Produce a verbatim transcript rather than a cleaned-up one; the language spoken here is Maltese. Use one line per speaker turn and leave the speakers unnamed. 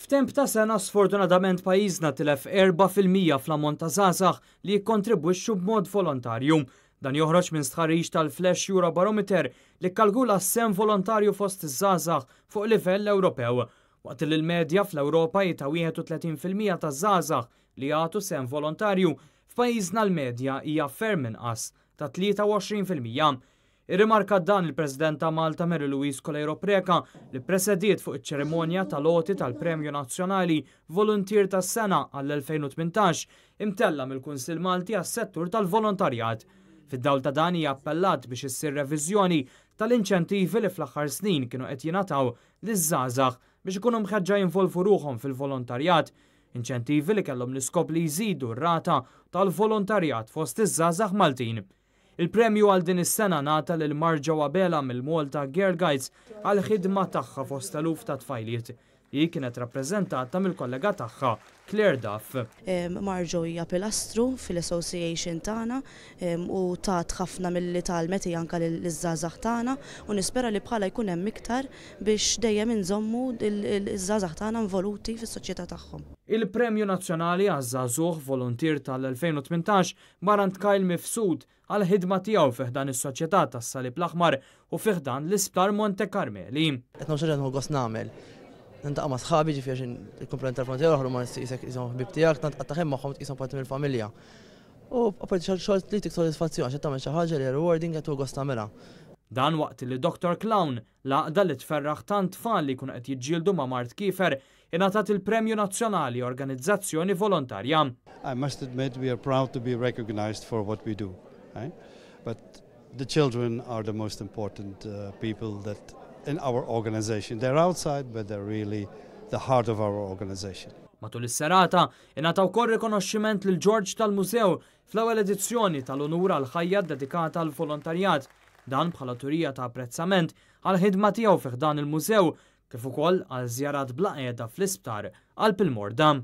F'temp ta' sena, sfortunatament, pajjiżna tilef erbgħa fil-mija fl-ammont ta' żgħażagħ li jikkontribwixxu b'mod volontarju. Dan joħroġ minn stħarriġ tal-Flash Eurobarometer li kalkula s-sehem volontarju fost iż-żgħażagħ fuq livell Ewropew. Waqt li l-medja fl-Ewropa hi ta' wieħed u tletin fil-mija ta' żgħażagħ li jagħtu sehem volontarju, f'pajjiżna l-medja hija ferm inqas ta' tlieta u għoxrin fil-mija. Irrimarka dan il-President ta' Malta, Mary Louise Coleiro Preca, li presediet fuq iċ-ċerimonja tal-għoti tal-Premju Nazzjonali Volunteer tas-Sena għall-elfejn u tmintax imtella mill-Kunsill Malti għas-settur tal-volontarjat. Fid-dawl ta' dan, hija appellat biex issir reviżjoni tal-inċentivi li fl-aħħar snin kienu qed jingħataw liż-żgħażagħ biex ikunu mħeġġa jinvolvu ruħhom fil-volontarjat, inċentivi li kellhom l-iskop li jżidu r-rata tal-volontarjat fost iż-żgħażagħ Maltin. Il-premju għal din is-sena ngħata lil Marġa Wabela mill-Malta Girl Guides għal ħidma tagħha fost eluf ta' tfajliet. Hi kienet rappreżentata mill-kollega tagħha, Claire Duff.
Marġo hija pilastru fil-association tagħna u tat ħafna milli tgħallmet anka liż-żgħażagħ tagħna u nispera li bħala jkun hemm iktar biex dejjem inżommu iż-żgħażagħ tagħna involuti fis-soċjetà tagħhom.
Il-Premju Nazzjonali għaż-Żagħżugħ Volunteer tal-elfejn u tmintax mar għand Kyle Mifsud għal ħidma tiegħu fi ħdan is-Soċjetà tas-Salib l-Aħmar u fi ħdan l-Isptar Monte Carmeli.
Qed nagħmel xi gost nagħmel. Niltaqa' ma' sħabi, ġifieri il-kumplament tal-volontier oħra ma qisek qishom ħbieb tiegħek, tant tqatta' magħhom, tqishom parti mill-familja. U apparti xogħol li tik sodisfazzjon għax tagħmel xi ħaġa li rewarding, qed gost tagħmilha.
Dan waqt li Doctor Clown, l-għaqda li tferraħ tant tfal li jkunu qed jiġġieldu ma' mard kiefer, ingħatat il-Premju Nazzjonali Organizzazzjoni Volontarja.
I must admit we are proud to be recognized for what we do. Right? But the children are the most important uh, people that in our organization. They're outside, but they're really the heart of our organization.
Matul is-serata ingħata wkoll rikonoxximent lil George tal-Mużew fl-ewwel edizzjoni tal-Unur għal ħajja dedikata għal volontarjat. Dan bħala turija ta' apprezzament għal ħidma tiegħu fi ħdan il-mużew kif ukoll għal żjarat bla qiegħda fl-isptar għal il-morda.